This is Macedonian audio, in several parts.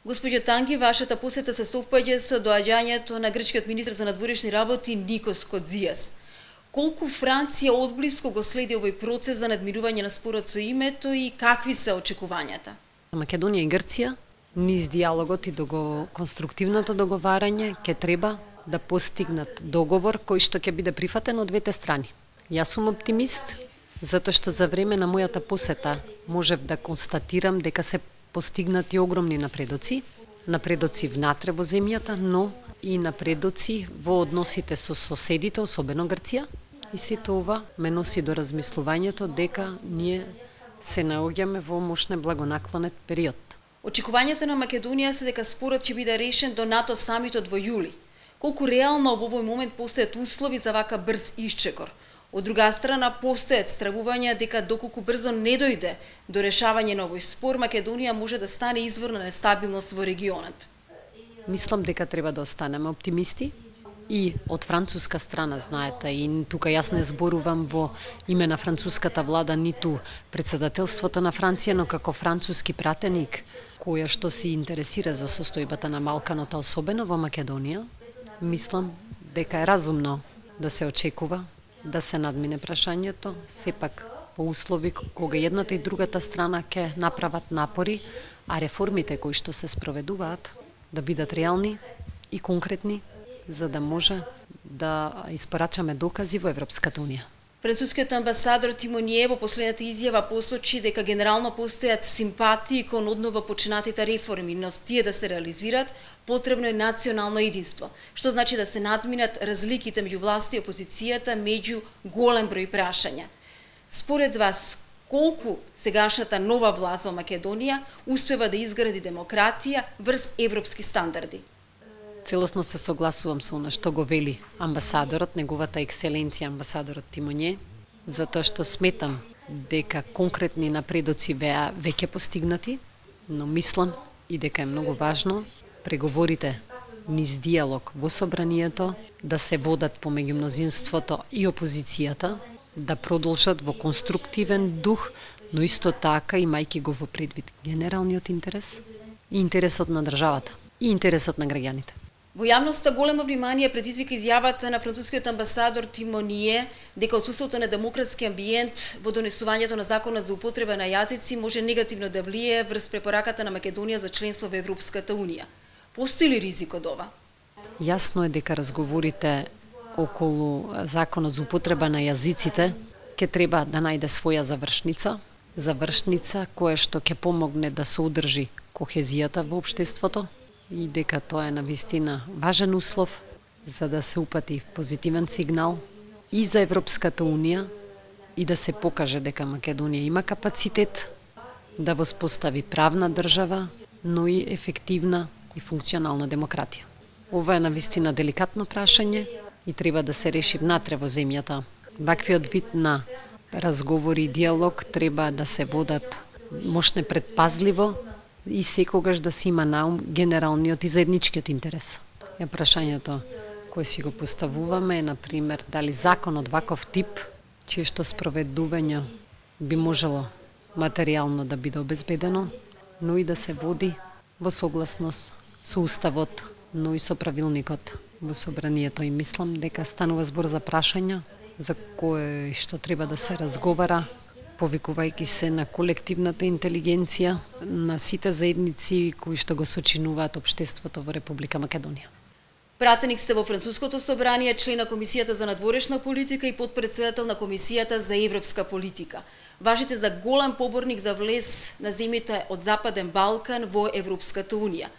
Господјо Танги, вашата посета се совпаѓа со доаѓањето на грчкиот министер за надворешни работи Никос Кодзијас. Колку Франција одблиску го следи овој процес за надмирување на спорот со името и какви се очекувањата? Македонија и Грција низ диалогот и конструктивното договарање ќе треба да постигнат договор кој што ќе биде прифатен од двете страни. Јас сум оптимист, затоа што за време на мојата посета можев да констатирам дека се постигнати огромни напредоци внатре во земјата, но и напредоци во односите со соседите, особено Грција. И сето ова ме носи до размислувањето дека ние се наоѓаме во мощен благонаклонет период. Очекувањата на Македонија се дека спорот ќе биде решен до НАТО самитот во јули. Колку реално во овој момент постојат услови за вака брз исчекор? Од друга страна, постојат стравувања дека доколку брзо не дојде до решавање на овој спор, Македонија може да стане извор на нестабилност во регионот. Мислам дека треба да останеме оптимисти и од француска страна, знаете, и тука јас не зборувам во име на француската влада, ниту председателството на Франција, но како француски пратеник, која што се интересира за состојбата на Балканот, особено во Македонија, мислам дека е разумно да се очекува да се надмине прашањето, сепак по услови кога едната и другата страна ќе направат напори, а реформите кои што се спроведуваат да бидат реални и конкретни, за да може да испорачаме докази во Европската Унија. Францускиот амбасадор Тимоние во последната изјава посочи дека генерално постојат симпатии кон одново почнатите реформи, но тие да се реализират, потребно е национално единство, што значи да се надминат разликите меѓу власта и опозицијата меѓу голем број прашања. Според вас, колку сегашната нова власт во Македонија успева да изгради демократија врз европски стандарди? Целосно се согласувам со она што го вели амбасадорот, неговата екселенција амбасадорот Тимонје, затоа што сметам дека конкретни напредоци веќе постигнати, но мислам и дека е многу важно преговорите низ диалог во собранието да се водат помеѓу мнозинството и опозицијата, да продолжат во конструктивен дух, но исто така имајќи го во предвид генералниот интерес и интересот на државата и интересот на граѓаните. Во јавноста големо внимание предизвика изјавата на францускиот амбасадор Тимоние дека отсуството на демократски амбиент во донесувањето на законот за употреба на јазици може негативно да влијае врз препораката на Македонија за членство во Европската Унија. Постои ли ризик од ова? Јасно е дека разговорите околу законот за употреба на јазиците ќе треба да најде своја завршница која што ќе помогне да се одржи кохезијата во општеството, и дека тоа е навистина важен услов за да се упати позитивен сигнал и за Европската Унија и да се покаже дека Македонија има капацитет да воспостави правна држава, но и ефективна и функционална демократија. Ова е навистина деликатно прашање и треба да се реши внатре во земјата. Ваквиот вид на разговори и диалог треба да се водат мошне предпазливо и секогаш да се има на ум генералниот и заедничкиот интерес. Прашањето кое си го поставуваме е, например, дали закон од ваков тип, чие што спроведување би можело материјално да биде обезбедено, но и да се води во согласност со Уставот, но и со правилникот во собранието. И мислам дека станува збор за прашања за кое што треба да се разговара, повикувајќи се на колективната интелигенција на сите заедници кои што го сочинуваат општеството во Република Македонија. Пратеник сте во Француското собрание, член на Комисијата за надворешна политика и подпредседател на Комисијата за европска политика. Важите за голем поборник за влез на земјите од Западен Балкан во Европската Унија.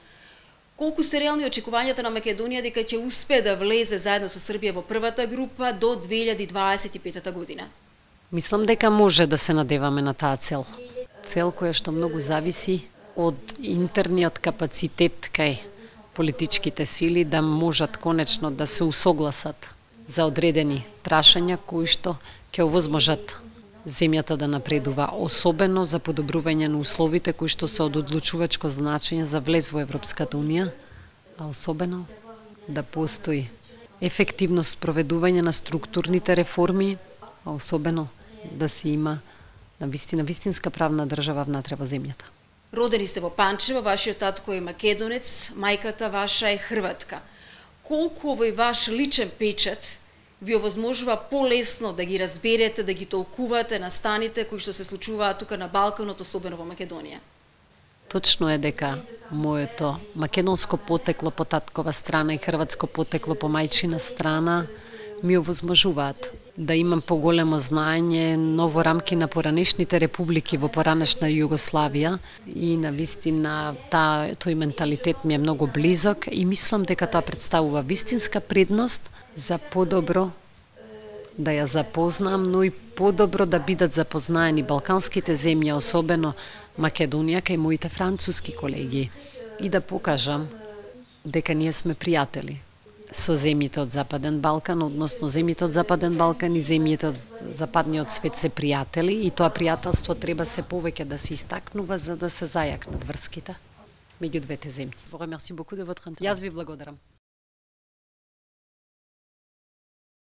Колку се реални очекувањата на Македонија дека ќе успее да влезе заедно со Србија во првата група до 2025 година? Мислам дека може да се надеваме на таа цел. Цел која што многу зависи од интерниот капацитет кај политичките сили да можат конечно да се усогласат за одредени прашања кои што ќе овозможат земјата да напредува, особено за подобрување на условите кои што се од одлучувачко значење за влез во Европската Унија, а особено да постои ефективност проведување на структурните реформи, а особено да се има на вистинска правна држава внатре во земјата. Родени сте во Панчево, вашиот татко е македонец, мајката ваша е хрватка. Колку овој ваш личен печат ви овозможува полесно да ги разберете, да ги толкувате настаните кои што се случуваат тука на Балканот, особено во Македонија? Точно е дека моето македонско потекло по таткова страна и хрватско потекло по мајчина страна ми овозможуваат да имам поголемо знаење, но во рамки на поранешните републики во поранешна Југославија и на вистина тој менталитет ми е многу близок и мислам дека тоа представува вистинска предност за подобро да ја запознам, но и подобро да бидат запознаени балканските земји, особено Македонија кај моите француски колеги и да покажам дека ние сме пријатели со земјите од Западен Балкан, односно земјите од Западен Балкан и земјите од западниот свет се пријатели и тоа пријателство треба се повеќе да се истакнува за да се зајакнат врските меѓу двете земји. Јас ви благодарам.